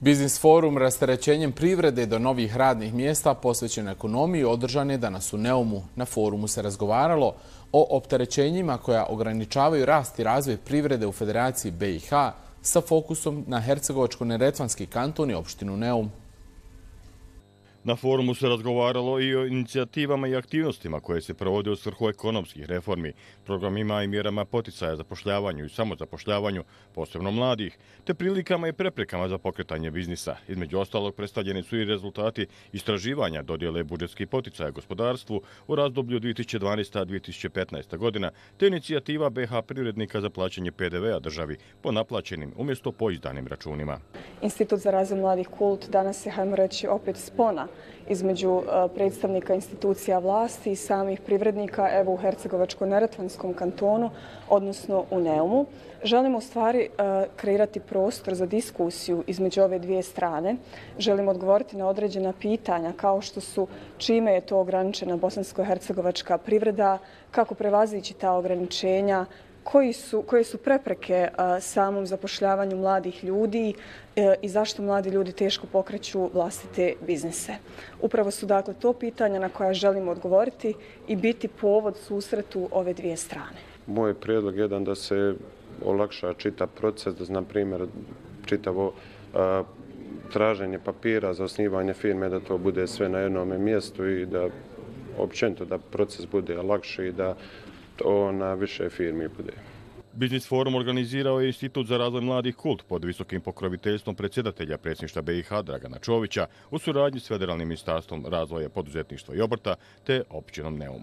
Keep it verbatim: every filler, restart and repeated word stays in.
Biznis forum rasterećenjem privrede do novih radnih mjesta posvećen ekonomiji održan je danas u Neumu. Na forumu se razgovaralo o opterećenjima koja ograničavaju rast i razvoj privrede u Federaciji B i H sa fokusom na Hercegovačko-neretvanski kanton i opštinu Neum. Na forumu se razgovaralo i o inicijativama i aktivnostima koje se provode u svrhu ekonomskih reformi, programima i mjerama poticaja zapošljavanju i samozapošljavanju, posebno mladih, te prilikama i preprekama za pokretanje biznisa. Između ostalog predstavljeni su i rezultati istraživanja dodjele budžetskih poticaja gospodarstvu u razdoblju dvije tisuće dvanaesta do dvije tisuće petnaeste godina, te inicijativa B i H privrednika za plaćanje P D V-a državi po naplaćenim umjesto po izdanim računima. Institut za razvoj mladih Kult danas je, hajmo reći, opet spona između predstavnika institucija vlasti i samih privrednika evo u Hercegovačko-neretvanskom kantonu, odnosno u Neumu. Želimo u stvari kreirati prostor za diskusiju između ove dvije strane. Želimo odgovoriti na određena pitanja kao što su čime je to ograničena bosansko-hercegovačka privreda, kako prevazići ta ograničenja, Koji su, koje su prepreke a, samom zapošljavanju mladih ljudi e, i zašto mladi ljudi teško pokreću vlastite biznise. Upravo su dakle to pitanja na koja želimo odgovoriti i biti povod susretu ove dvije strane. Moj prijedlog je jedan da se olakša čitav proces, da na primjer čitavo a, traženje papira za osnivanje firme, da to bude sve na jednom mjestu i da općenito da proces bude lakši i da to na više firmi bude. Biznis forum organizirao je Institut za razvoj mladih Kult pod visokim pokroviteljstvom predsjedatelja predsjedništva B i H Dragana Čovića u suradnji s Federalnim ministarstvom razvoja, poduzetništva i obrta te općinom Neum.